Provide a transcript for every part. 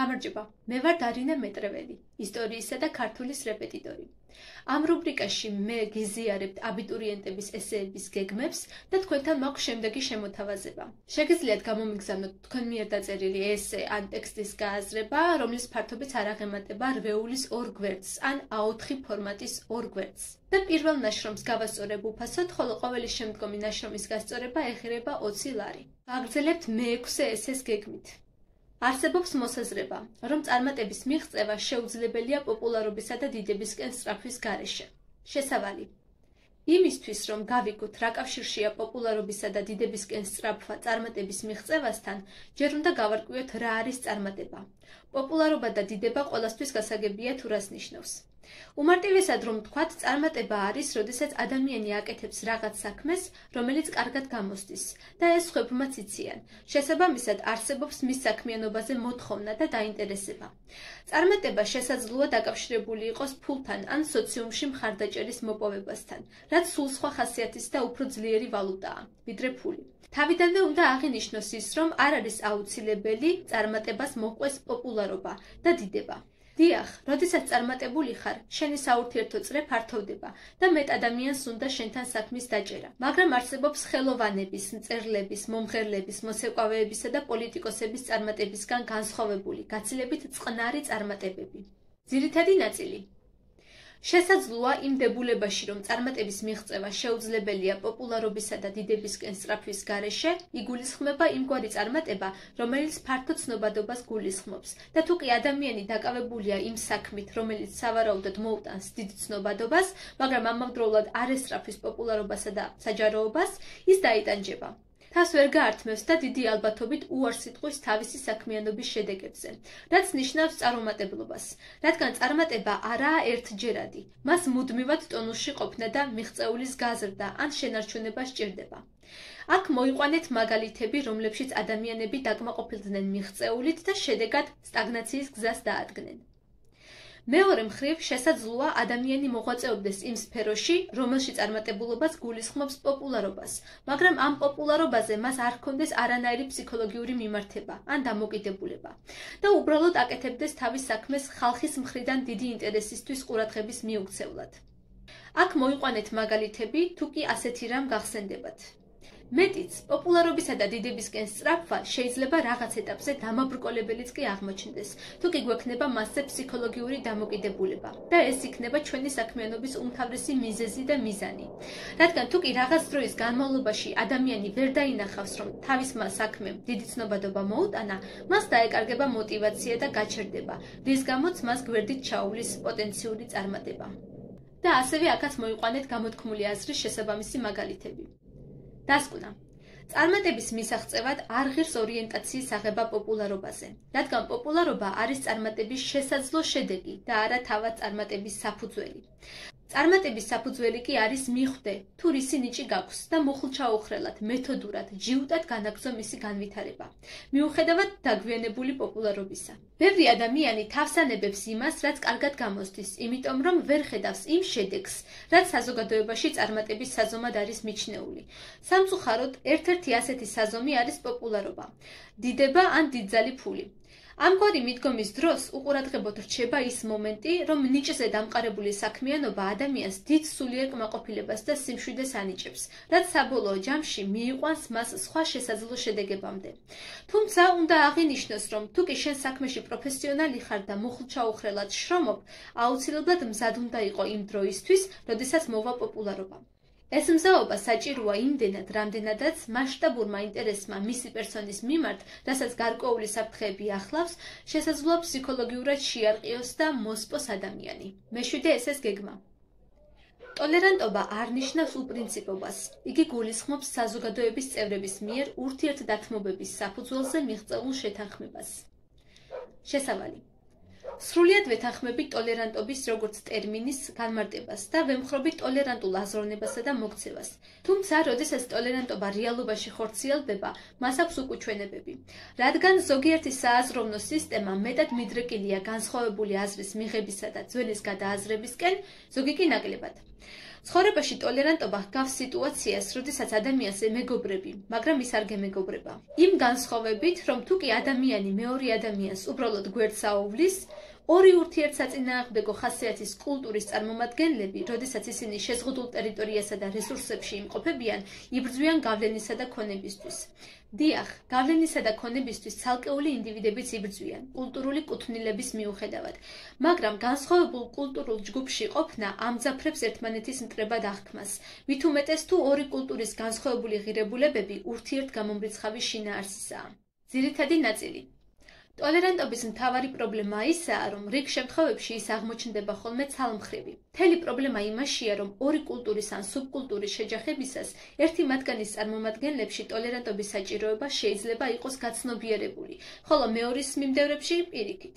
გამარჯობა, მე ვარ დარინა მეტრეველი, ისტორიისა და ქართულის რეპეტიტორი. Ამ რუბრიკაში მე გიზიარებთ აბიტურიენტების ესეების გეგმებს და თქვენთან მაქვს შემდეგი შემოთავაზება. შეგიძლიათ გამომიგზავნოთ თქვენ მიერ დაწერილი ესე ან ტექსტის გააზრება, რომლის ფართობიც არ აღემატება რვეულის 2 გვერდს ან A4 ფორმატის 2 გვერდს. და პირველ ნაშრომს გავასწორებ უფასოდ, ხოლო ყოველი შემდგომი ნაშრომის გასწორება ეხირება 20 ლარი. ვაგრძელებთ მე-6 ესეს გეგმით. არსებობს მოსაზრება, რომ წარმატების მიღწევა შეუძლებელია პოპულარობისა და დიდებისკენ სწრაფვის გარეშე. შესავალი. იმისთვის, რომ გავიგოთ, რა კავშირშია პოპულარობისა და დიდებისკენ სწრაფვა წარმატების მიღწევასთან, ჯერ უნდა გავარკვიოთ, რა არის წარმატება. პოპულარობა და დიდება ყველასთვის გასაგებია თუ რას ნიშნავს. უმარტივესად რომ ვთქვათ, წარმატება არის, როდესაც ადამიანი აკეთებს რაღაც საქმეს, რომელიც კარგად გამოსდის და ეს სხვებმაც იციან. შესაბამისად, არსებობს მის საქმიანობაზე მოთხოვნა და დაინტერესება. წარმატება შესაძლოა დაკავშირებული იყოს ფულთან ან სოციუმში მხარდაჭერის მოპოვებასთან, რაც სულ სხვა ხასიათის და უფრო ძლიერი ვალუტაა, ვიდრე ფული. თავიდანვე უნდა აღინიშნოს ის, რომ არ არის აუცილებელი წარმატებას მოჰყვეს პოპულარობა და დიდება. დიახ, როდესაც წარმატებული ხარ, შენი საურთიერთო წრე ფართოვდება და მეტ ადამიანს უნდა შენთან საქმის დაჭერა. მაგრამ არსებობს ხელოვანების, მწერლების, მომღერლების, მოსეყვავეებისა და პოლიტიკოსების წარმატებისგან განსხვავებული, გაცილებით წყნარი წარმატებები. ძირითადი ნაწილი. შესაძლოა იმ დებულებაში, რომ წარმატების მიღწევა შეუძლებელია პოპულარობისა და დიდებისკენ სწრაფვის გარეშე, იგულისხმება იმგვარი წარმატება, რომელიც ფართო ცნობადობას გულისხმობს და თუ კი ადამიანი დაკავებულია იმ საქმით, რომელიც სავარაუდოდ მოუტანს დიდ ცნობადობას, მაგრამ ამავდროულად არ ესწრაფვის პოპულარობასა და საჯაროობას, ის დაიტანჯება. თავს ვერ გაართმევს და დიდი ალბათობით უარს იტყვის თავისი საქმიანობის შედეგებზე, რაც ნიშნავს წარუმატებლობას, რადგან წარმატება არაა ერთჯერადი, მას მუდმივად ტონუსში ყოფნა და მიღწეულის გაზრდა ან შენარჩუნება სჭირდება. აქ მოიყვანეთ მაგალითები, რომლებშიც ადამიანები დაკმაყოფილდნენ მიღწეულით და შედეგად სტაგნაციის გზას დაადგნენ. მეორე მხრივ, შესაძლოა ადამიანი მოღვაწეობდეს იმ სფეროში, რომელში წარმატებულობას გულისხმობს პოპულარობას, მაგრამ ამ პოპულარობაზე მას არ ჰქონდეს არანაირი ფსიქოლოგიური მიმართება ან დამოკიდებულება და უბრალოდ აკეთებდეს თავის საქმეს ხალხის მხრიდან დიდი ინტერესისთვის ყურადღების მიუქცევლად. აქ მოიყვანეთ მაგალითები, თუ კი ასეთი რამ გახსენდებათ. მეტიც, პოპულარობისა და დიდებისკენ სწრაფვა შეიძლება რაღაც ეტაპზე დამაბრკოლებელიც კი აღმოჩნდეს, თუ კი გვექნება მასზე ფსიქოლოგიური დამოკიდებულება და ეს იქნება ჩვენი საქმიანობის უმთავრესი მიზეზი და მიზანი. რადგან თუ კი რაღაც დროის განმავლობაში ადამიანი ვერ დაინახავს, რომ თავისმა საქმემ დიდი ცნობადობა მოუტანა, მას დაეკარგება мотиваცია და გაჩერდება, რის გამოც მას გვერდით ჩაუვლის პოტენციური წარმატება. და ასევე აქაც მოიყვანეთ გამოთქმული აზრის შესაბამისი მაგალითები. დასკვნა. წარმატების მისაღწევად არ ღირს ორიენტაციის აღება პოპულარობაზე, რადგან პოპულარობა არის წარმატების შესაძლო შედეგი და არა თავად წარმატების საფუძველი. წარმატების საფუძველი კი არის მიხვდე, თუ რისი ნიჭი გაქვს და მუხლჩაუხრელად, მეთოდურად, ჯიუტად განაგრძო მისი განვითარება, მიუხედავად დაგვიანებული პოპულარობისა. ბევრი ადამიანი თავს ანებებს იმას, რაც კარგად გამოსდის, იმიტომ რომ ვერ ხედავს იმ შედეგს, რაც საზოგადოებაში წარმატების საზომად არის მიჩნეული. სამწუხაროდ, ერთ-ერთი ასეთი საზომი არის პოპულარობა, დიდება ან დიდძალი ფული. ამგვარი მიდგომის დროს უყურადღებოდ რჩება ის მომენტი, რომ ნიჭზე დამყარებული საქმიანობა ადამიანს დიდ სულიერ კმაყოფილებას და სიმშვიდეს ანიჭებს, რაც საბოლოო ჯამში მიიყვანს მას სხვა შესაძლო შედეგებამდე. თუმცა უნდა აღინიშნოს, რომ თუ კი შენ საქმეში პროფესიონალი ხარ და მუხლჩაუხრელად შრომობ, აუცილებლად მზად უნდა იყო იმ დროისთვის, როდესაც მოვა პოპულარობა. ეს მზაობა საჭიროა იმდენად, რამდენადაც მასშტაბურმა ინტერესმა მისი პერსონის მიმართ, რასაც გარკვეული საფრთხეები ახლავს, შესაძლოა ფსიქოლოგიურად შეარყიოს და მოსპოს ადამიანი. მე-7 ესეს გეგმა. ტოლერანტობა არ ნიშნავს უპრინციპობას. იგი გულისხმობს საზოგადოების წევრების მიერ ურთიერთდათმობების საფუძველზე მიღწეულ შეთანხმებას. შესავალი. სრულიად ვეთანხმებით ტოლერანტობის როგორც ტერმინის განმარტებას და ვემხრობით ტოლერანტულ აზროვნებასა და მოქცევას. თუმცა, როდესაც ტოლერანტობა რეალობაში ხორციელდება, მას აქვს უკუჩვენებები. რადგან ზოგიერთი სააზროვნო სისტემა მეტად მიდრეკილია განსხვავებული აზრის მიღებისა და ძველის გადააზრებისკენ, ზოგი კი ნაკლებად. ცხოვრებაში ტოლერანტობა ჰგავს სიტუაციას, როდესაც ადამიანს ემეგობრები, მაგრამ ის არ გემეგობრება. იმ განსხვავებით, რომ თუკი ადამიანი მეორე ადამიანს უბრალოდ გვერდს აუვლის, ორი ურთიერთსაწინააღმდეგო ხასიათის კულტურის წარმომადგენლები, როდესაც ისინი შეზღუდულ ტერიტორიასა და რესურსებში იმყოფებიან, იბრძვიან გავლენისა და ქონებისთვის. დიახ, გავლენისა და ქონებისთვის ცალკეული ინდივიდებიც იბრძვიან, კულტურული კუთვნილების მიუხედავად, მაგრამ განსხვავებულ კულტურულ ჯგუფში ყოფნა ამძაფრებს ერთმანეთის მტრებად აღქმას, მით უმეტეს თუ ორი კულტურის განსხვავებული ღირებულებები ურთიერთგამომრიცხავი შინაარსისაა. ძირითადი ნაწილი. ტოლერანტობის მთავარი პრობლემა ისაა, რომ რიგ შემთხვევებში ის აღმოჩნდება ხოლმე ცალმხრივი. მთელი პრობლემა იმაშია, რომ ორი კულტურის ან სუბკულტურის შეჯახებისას ერთი მათგანის წარმომადგენლებში ტოლერანტობის საჭიროება შეიძლება იყოს გაცნობიერებული, ხოლო მეორის მიმდევრებში პირიქით.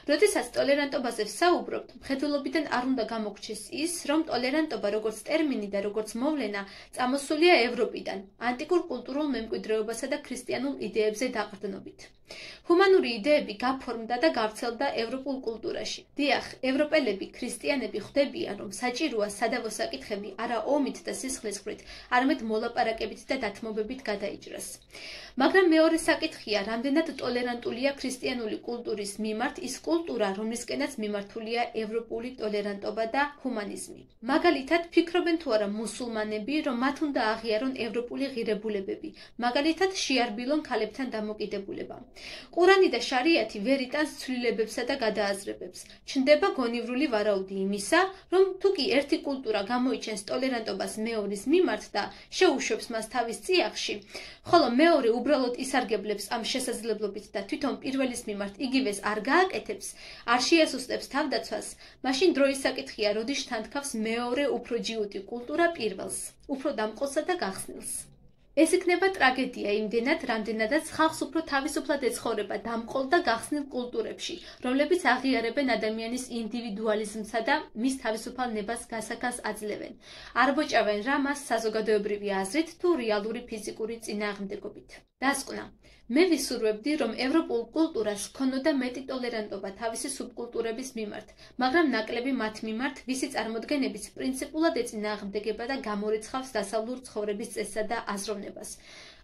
როდესაც ტოლერანტობაზე ვსაუბრობთ, მხედველობიდან არ უნდა გამოგჩეს ის, რომ ტოლერანტობა როგორც ტერმინი და როგორც მოვლენა წამოსულია ევროპიდან, ანტიკურ კულტურულ მემკვიდრეობასა და ქრისტიანულ იდეებზე დაყრდნობით. ჰუმანური იდეები გაფორმდა და გავრცელდა ევროპულ კულტურაში. დიახ, ევროპელები, ქრისტიანები ხვდებიან, რომ საჭიროა სადავო საკითხები არა ომით და სისხლისღვრით, არამედ მოლაპარაკებით და დათმობებით გადაიჭრას. მაგრამ მეორე საკითხია, რამდენად ტოლერანტულია ქრისტიანული კულტურის მიმართ ის კულტურა, რომლისკენაც მიმართულია ევროპული ტოლერანტობა და ჰუმანიზმი. მაგალითად, ფიქრობენ თუ არა მუსულმანები, რომ მათ უნდა აღიარონ ევროპული ღირებულებები, მაგალითად, შეარბილონ ქალებთან დამოკიდებულება. ყურანი და შარიათი ვერ იტანს ცვლილებებსა და გადააზრებებს. ჩნდება გონივრული ვარაუდი იმისა, რომ თუკი ერთი კულტურა გამოიჩენს ტოლერანტობას მეორის მიმართ და შეუშვებს მას თავის წიაღში, ხოლო მეორე უბრალოდ ისარგებლებს ამ შესაძლებლობით და თვითონ პირველის მიმართ იგივეს არ გააკეთებს, არ შეასუსტებს თავდაცვას, მაშინ დროის საკითხია, როდის თანთქავს მეორე უფრო ჯიუტი კულტურა პირველს, უფრო დამყოლსა და გახსნილს. ეს იქნება ტრაგედია იმდენად, რამდენადაც ხალხს უფრო თავისუფლად ეცხოვრება დამყოლ და გახსნილ კულტურებში, რომლებიც აღიარებენ ადამიანის ინდივიდუალიზმსა და მის თავისუფალ ნებას გასაქანს აძლევენ. არ ბოჭავენ რა მას საზოგადოებრივი აზრით თუ რეალური ფიზიკური წინააღმდეგობით. დასკვნა. მე ვისურვებდი, რომ ევროპულ კულტურას ჰქონოდა მეტი ტოლერანტობა თავისი სუბკულტურების მიმართ, მაგრამ ნაკლები მათ მიმართ, ვისი წარმოდგენებიც პრინციპულად ეწინააღმდეგება და გამორიცხავს დასავლურ ცხოვრების წესსა და აზროვნებას.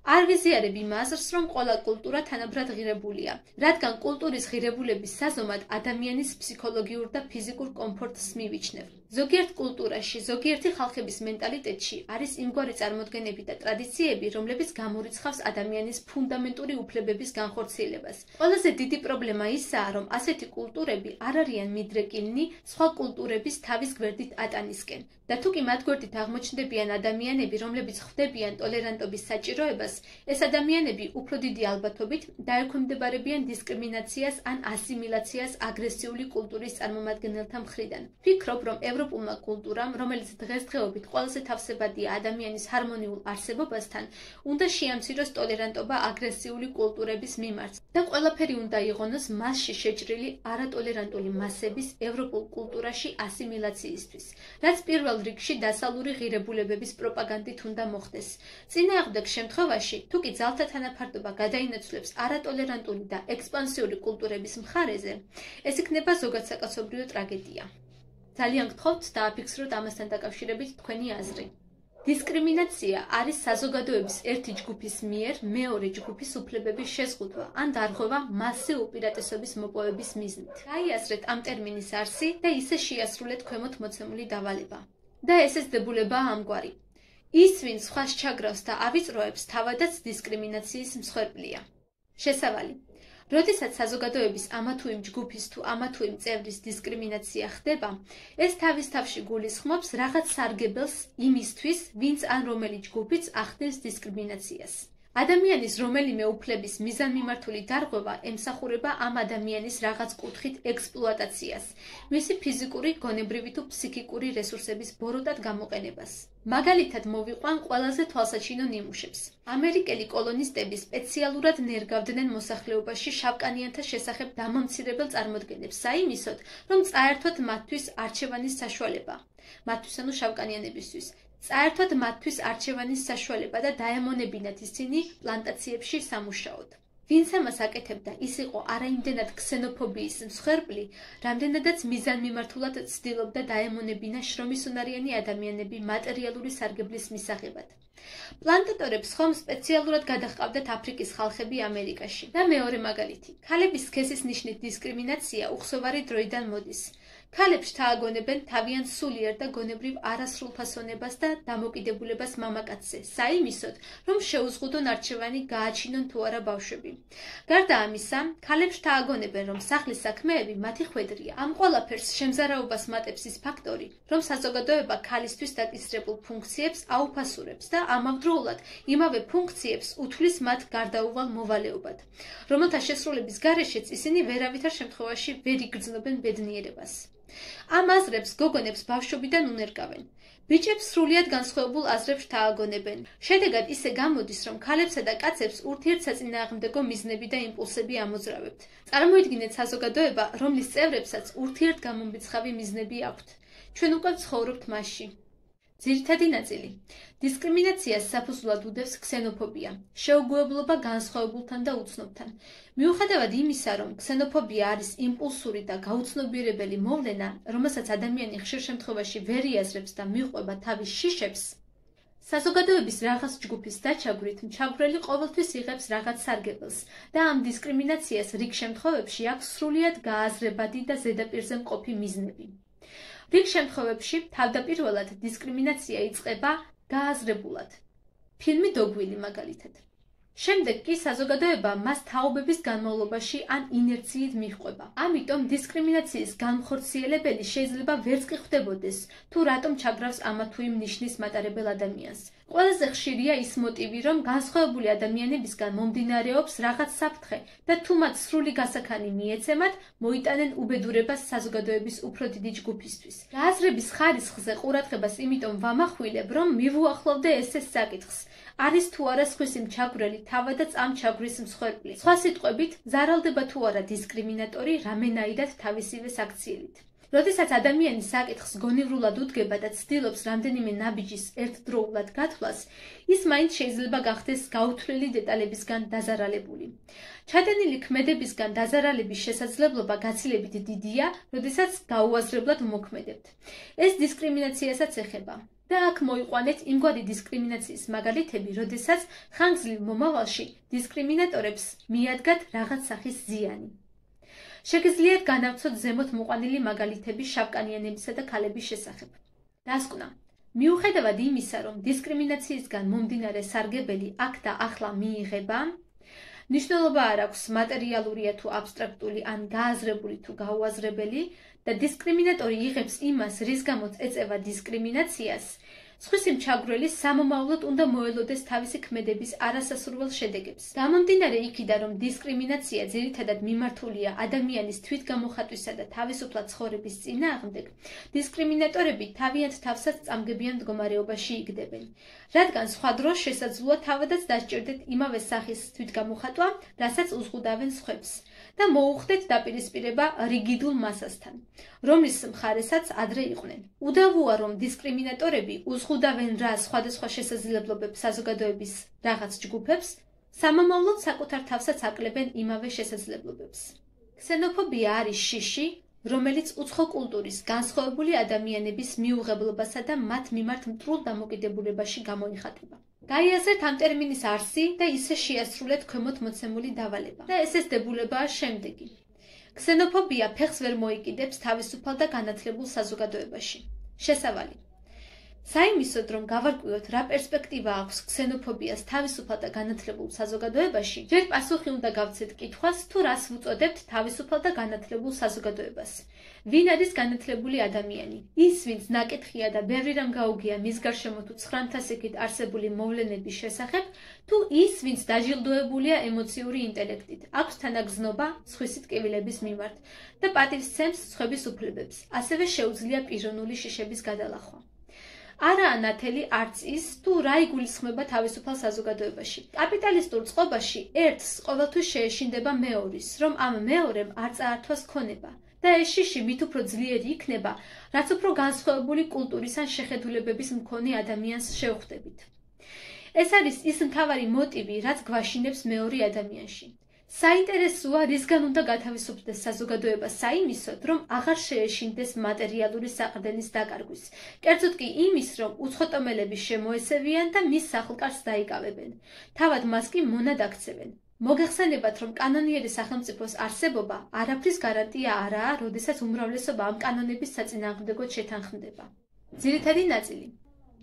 არ ვიზიარებ იმ აზრს, რომ ყველა კულტურა თანაბრად ღირებულია, რადგან კულტურის ღირებულების საზომად ადამიანის ფსიქოლოგიურ და ფიზიკურ კომფორტს მივიჩნევ. ზოგიერთ კულტურაში, ზოგიერთი ხალხების მენტალიტეტში არის იმგვარი წარმოდგენები და ტრადიციები, რომლებიც გამორიცხავს ადამიანის ფუნდამენტური უფლებების განხორციელებას. ყველაზე დიდი პრობლემა ისაა, რომ ასეთი კულტურები არ არიან მიდრეკილნი სხვა კულტურების თავის გვერდით ატანისკენ. და თუკი მათ გვერდით აღმოჩნდებიან ადამიანები, რომლებიც ხვდებიან ტოლერანტობის საჭიროებას, ეს ადამიანები უფრო დიდი ალბათობით დაექვემდებარებიან დისკრიმინაციას ან ასიმილაციას აგრესიული კულტურის წარმომადგენელთა მხრიდან. ვფიქრობ, რომ ევროპულმა კულტურამ, რომელიც დღესდღეობით ყველაზე თავსებადია ადამიანის ჰარმონიულ არსებობასთან, უნდა შეამციროს ტოლერანტობა აგრესიული კულტურების მიმართ და ყველაფერი უნდა იღონოს მასში შეჭრილი არატოლერანტული მასების ევროპულ კულტურაში ასიმილაციისთვის, რაც პირველ რიგში დასავლური ღირებულებების პროპაგანდით უნდა მოხდეს. წინააღმდეგ შემთხვევაში, თუკი ძალთა თანაფარდობა გადაინაცვლებს არატოლერანტული და ექსპანსიური კულტურების მხარეზე, ეს იქნება ზოგადსაკაცობრიო ტრაგედია. ძალიან გთხოვთ დააფიქსროთ ამასთან დაკავშირებით თქვენი აზრი. დისკრიმინაცია არის საზოგადოების ერთი ჯგუფის მიერ მეორე ჯგუფის უფლებების შეზღუდვა ან დარღვევა მასზე უპირატესობის მოპოვების მიზნით. გაიაზრეთ ამ ტერმინის არსი და ისე შეასრულეთ ქვემოთ მოცემული დავალება. და ესეც დებულებაა ამგვარი. ის, ვინც სხვას ჩაგრავს და ავიწროებს, თავადაც დისკრიმინაციის მსხვერპლია. შესავალი. როდესაც საზოგადოების ამა თუ იმ ჯგუფის თუ ამა თუ იმ წევრის დისკრიმინაცია ხდება, ეს თავის თავში გულისხმობს რაღაც სარგებელს იმისთვის, ვინც ან რომელი ჯგუფიც ახდენს დისკრიმინაციას. ადამიანის რომელიმე უფლების მიზანმიმართული დარღვევა ემსახურება ამ ადამიანის რაღაც კუთხით ექსპლუატაციას, მისი ფიზიკური, გონებრივი თუ ფსიქიკური რესურსების ბოროტად გამოყენებას. მაგალითად მოვიყვან ყველაზე თვალსაჩინო ნიმუშებს. ამერიკელი კოლონისტები სპეციალურად ნერგავდნენ მოსახლეობაში შავკანიანთა შესახებ დამამცირებელ წარმოდგენებს, საიმისოდ, რომ წაერთვათ მათთვის არჩევანის საშუალება. მათთვის ანუ შავკანიანებისთვის. წაერთვათ მათთვის არჩევანის საშუალება და დაემონებინათ ისინი პლანტაციებში სამუშაოდ. ვინც ამას აკეთებდა, ის იყო არაიმდენად ქსენოფობიის მსხვერპლი, რამდენადაც მიზანმიმართულად ცდილობდა დაემონებინა შრომისუნარიანი ადამიანები მატერიალური სარგებლის მისაღებად. პლანტატორებს ხომ სპეციალურად გადაჰყავდათ აფრიკის ხალხები ამერიკაში. და მეორე მაგალითი, ქალების სქესის ნიშნით დისკრიმინაცია უხსოვარი დროიდან მოდის. ქალებს შთააგონებენ თავიანთ სულიერ და გონებრივ არასრულფასონებას და დამოკიდებულებას მამაკაცზე, საიმისოდ, რომ შეუზღუდონ არჩევანი გააჩინონ თუ არა ბავშვები. გარდა ამისა, ქალებს შთააგონებენ, რომ სახლის საქმეები მათი ხვედრია. ამ ყველაფერს შემზარავობას მატებს ის ფაქტორი, რომ საზოგადოება ქალისთვის დაკისრებულ ფუნქციებს აუფასურებს და ამავდროულად იმავე ფუნქციებს უთვლის მათ გარდაუვალ მოვალეობად, რომელთა შესრულების გარეშეც ისინი ვერავითარ შემთხვევაში ვერ იგრძნობენ ბედნიერებას. ამ აზრებს გოგონებს ბავშვობიდან უნერგავენ. ბიჭებს სრულიად განსხვავებულ აზრებს შთააგონებენ. შედეგად ისე გამოდის, რომ ქალებსა და კაცებს ურთიერთსაწინააღმდეგო მიზნები და იმპულსები ამოძრავებთ. წარმოიდგინეთ საზოგადოება, რომლის წევრებსაც ურთიერთგამომრიცხავი მიზნები აქვთ. ჩვენ უკვე ვცხოვრობთ მასში. ძირითადი ნაწილი. დისკრიმინაციას საფუძვლად უდევს ქსენოფობია, შეუგუებლობა განსხვავებულთან და უცნობთან. მიუხედავად იმისა, რომ ქსენოფობია არის იმპულსური და გაუცნობიერებელი მოვლენა, რომელსაც ადამიანი ხშირ შემთხვევაში ვერ იაზრებს და მიჰყვება თავის შიშებს, საზოგადოების რაღაც ჯგუფის დაჩაგვრით მჩაგვრელი ყოველთვის იღებს რაღაც სარგებელს და ამ დისკრიმინაციას რიგ შემთხვევებში აქვს სრულიად გააზრებადი და ზედაპირზე მყოფი მიზნები. რიგ შემთხვევებში თავდაპირველად დისკრიმინაცია იწყება გააზრებულად. ფილმი დოგვილი მაგალითად. შემდეგ კი საზოგადოება მას თაობების განმავლობაში ან ინერციით მიჰყვება. ამიტომ დისკრიმინაციის განხორციელებელი შეიძლება ვერც კი ხვდებოდეს, თუ რატომ ჩაგრავს ამა თუ იმ ნიშნის მატარებელ ადამიანს. ყველაზე ხშირია ის მოტივი, რომ განსხვავებული ადამიანებისგან მომდინარეობს რაღაც საფრთხე და თუ მათ სრული გასაქანი მიეცემათ, მოიტანენ უბედურებას საზოგადოების უფრო დიდი ჯგუფისთვის. გააზრების ხარისხზე ყურადღებას იმიტომ ვამახვილებ, რომ მივუახლოვდე ესე საკითხს. არის თუ არა სხვისი მჩაგვრელი თავადაც ამ ჩაგვრის მსხვერპლი. სხვა სიტყვებით, ზარალდება თუ არა დისკრიმინატორი რამენაირად თავისივე საქციელით. როდესაც ადამიანი საკითხს გონივრულად უდგება და ცდილობს რამდენიმე ნაბიჯის ერთდროულად გათვლას, ის მაინც შეიძლება გახდეს გაუთვლელი დეტალებისგან დაზარალებული. ჩადენილი ქმედებისგან დაზარალების შესაძლებლობა გაცილებით დიდია, როდესაც გაუაზრებლად მოქმედებთ. ეს დისკრიმინაციასაც ეხება. და აქ მოიყვანეთ იმგვარი დისკრიმინაციის მაგალითები, როდესაც ხანგრძლივ მომავალში დისკრიმინატორებს მიადგათ რაღაც სახის ზიანი. შეგიძლიათ განავცოთ ზემოთ მოყვანილი მაგალითები შავკანიანებისა და ქალების შესახებ. დასკვნა. მიუხედავად იმისა, რომ დისკრიმინაციისგან მომდინარე სარგებელი აქ და ახლა მიიღება, მნიშვნელობა არ აქვს მატერიალურია თუ აბსტრაქტული ან გააზრებული თუ გაუაზრებელი და დისკრიმინატორი იღებს იმას, რის გამოც ეწევა დისკრიმინაციას, სხვისი მჩაგვრელი სამომავლოდ უნდა მოელოდეს თავისი ქმედების არასასურველ შედეგებს. გამომდინარე იქიდან, რომ დისკრიმინაცია ძირითადად მიმართულია ადამიანის თვითგამოხატვისა და თავისუფლად ცხოვრების წინააღმდეგ, დისკრიმინატორები თავიანთ თავსაც წამგებიან მდგომარეობაში იგდებენ, რადგან სხვა დროს შესაძლოა თავადაც დასჭირდეთ იმავე სახის თვითგამოხატვა, რასაც უზღუდავენ სხვებს. და მოუხდეთ დაპირისპირება რიგიდულ მასასთან, რომლის მხარესაც ადრე იყვნენ. უდავოა, რომ დისკრიმინატორები უზღუდავენ რა სხვადასხვა შესაძლებლობებს საზოგადოების რაღაც ჯგუფებს, სამომავლოდ საკუთარ თავსაც აკლებენ იმავე შესაძლებლობებს. ქსენოფობია არის შიში, რომელიც უცხო კულტურის განსხვავებული ადამიანების მიუღებლობასა და მათ მიმართ მტრულ დამოკიდებულებაში გამოიხატება. გაიაზრეთ ამ ტერმინის არსი და ისე შეასრულეთ ქვემოთ მოცემული დავალება. და ეს დებულებაა შემდეგი. ქსენოფობია ფეხს ვერ მოიკიდებს თავისუფალ და განათლებულ საზოგადოებაში. შესავალი. საიმისოდ, რომ გავარკვიოთ, რა პერსპექტივა აქვს ქსენოფობიას თავისუფალ და განათლებულ საზოგადოებაში, ჯერ პასუხი უნდა გავცეთ კითხვას, თუ რას ვუწოდებთ თავისუფალ და განათლებულ საზოგადოებას. ვინ არის განათლებული ადამიანი? ის, ვინც ნაკითხია და ბევრი რამ გაუგია მის გარშემო თუ ცხრამთასიკით არსებული მოვლენების შესახებ, თუ ის, ვინც დაჯილდოებულია ემოციური ინტელექტით, აქვს თანაგზნობა სხვისი ტკივილების მიმართ და პატივს სცემს სხვების უფლებებს, ასევე შეუძლია პიროვნული შიშების გადალახვა. არაა ნათელი არც ის, თუ რა იგულისხმება თავისუფალ საზოგადოებაში. კაპიტალისტურ წყობაში ერთს ყოველთვის შეეშინდება მეორის, რომ ამ მეორემ არ წაართვას ქონება და ეს შიში მით უფრო ძლიერი იქნება, რაც უფრო განსხვავებული კულტურის ან შეხედულებების მქონე ადამიანს შევხვდებით. ეს არის ის მთავარი მოტივი, რაც გვაშინებს მეორე ადამიანში. საინტერესოა, რისგან უნდა გათავისუფლდეს საზოგადოება საიმისოდ, რომ აღარ შეეშინდეს მატერიალური საყრდენის დაკარგვის. კერძოდ კი იმის, რომ უცხოტომელები შემოესევიან და მის სახლ-კარს დაიკავებენ. თავად მას კი მონად აქცევენ. მოგეხსენებათ, რომ კანონიერი სახელმწიფოს არსებობა არაფრის გარანტია არაა, როდესაც უმრავლესობა ამ კანონების საწინააღმდეგოდ შეთანხმდება. ძირითადი ნაწილი.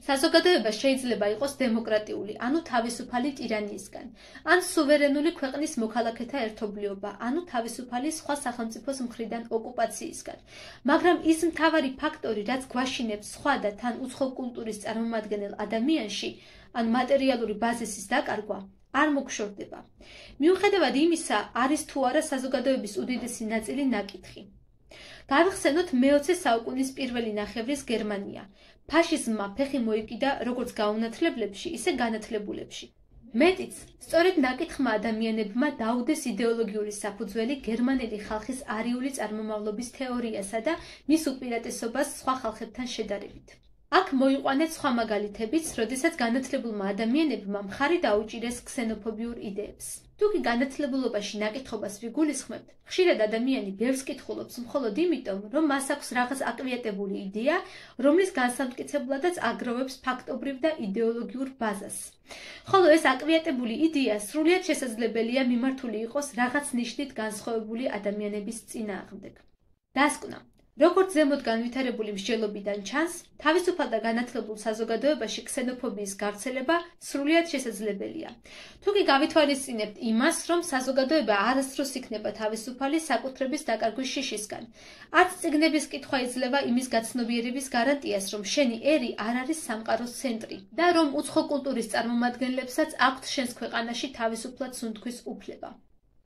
საზოგადოება შეიძლება იყოს დემოკრატიული, ანუ თავისუფალი ტირანიისგან, ან სუვერენული ქვეყნის მოქალაქეთა ერთობლიობა, ანუ თავისუფალი სხვა სახელმწიფოს მხრიდან ოკუპაციისგან. მაგრამ ის მთავარი ფაქტორი, რაც გვაშინებს სხვა და თან უცხო კულტურის წარმომადგენელ ადამიანში, ან მატერიალური ბაზისის დაკარგვა, არ მოგშორდება. მიუხედავად იმისა, არის თუ არა საზოგადოების უდიდესი ნაწილი ნაკითხი. გავიხსენოთ მე-20 საუკუნის პირველი ნახევრის გერმანია. ფაშიზმმა ფეხი მოიკიდა როგორც გაუნათლებლებში, ისე განათლებულებში. მეტიც, სწორედ ნაკითხმა ადამიანებმა დაუდეს იდეოლოგიური საფუძველი გერმანელი ხალხის არიული წარმომავლობის თეორიასა და მის უპირატესობას სხვა ხალხებთან შედარებით. აქ მოიყვანეთ სხვა მაგალითებიც, როდესაც განათლებულმა ადამიანებმა მხარი დაუჭირეს ქსენოფობიურ იდეებს. თუკი განათლებულობაში ნაკითხობას ვიგულისხმებთ, ხშირად ადამიანი ბევრს კითხულობს მხოლოდ იმიტომ, რომ მას აქვს რაღაც აკვიატებული იდეა, რომლის განსამტკიცებლადაც აგროვებს ფაქტობრივ და იდეოლოგიურ ბაზას. ხოლო ეს აკვიატებული იდეა სრულიად შესაძლებელია მიმართული იყოს რაღაც ნიშნით განსხვავებული ადამიანების წინააღმდეგ. დასკვნა. როგორც ზემოთ განვითარებული მსჯელობიდან ჩანს, თავისუფალ და განათლებულ საზოგადოებაში ქსენოფობიის გავრცელება სრულიად შესაძლებელია. თუკი გავითვალისწინებთ იმას, რომ საზოგადოება არასდროს იქნება თავისუფალი საკუთრების დაკარგვის შიშისგან, არც წიგნების კითხვა იძლევა იმის გაცნობიერების გარანტიას, რომ შენი ერი არ არის სამყაროს ცენტრი და რომ უცხო კულტურის წარმომადგენლებსაც აქვთ შენს ქვეყანაში თავისუფლად სუნთქვის უფლება.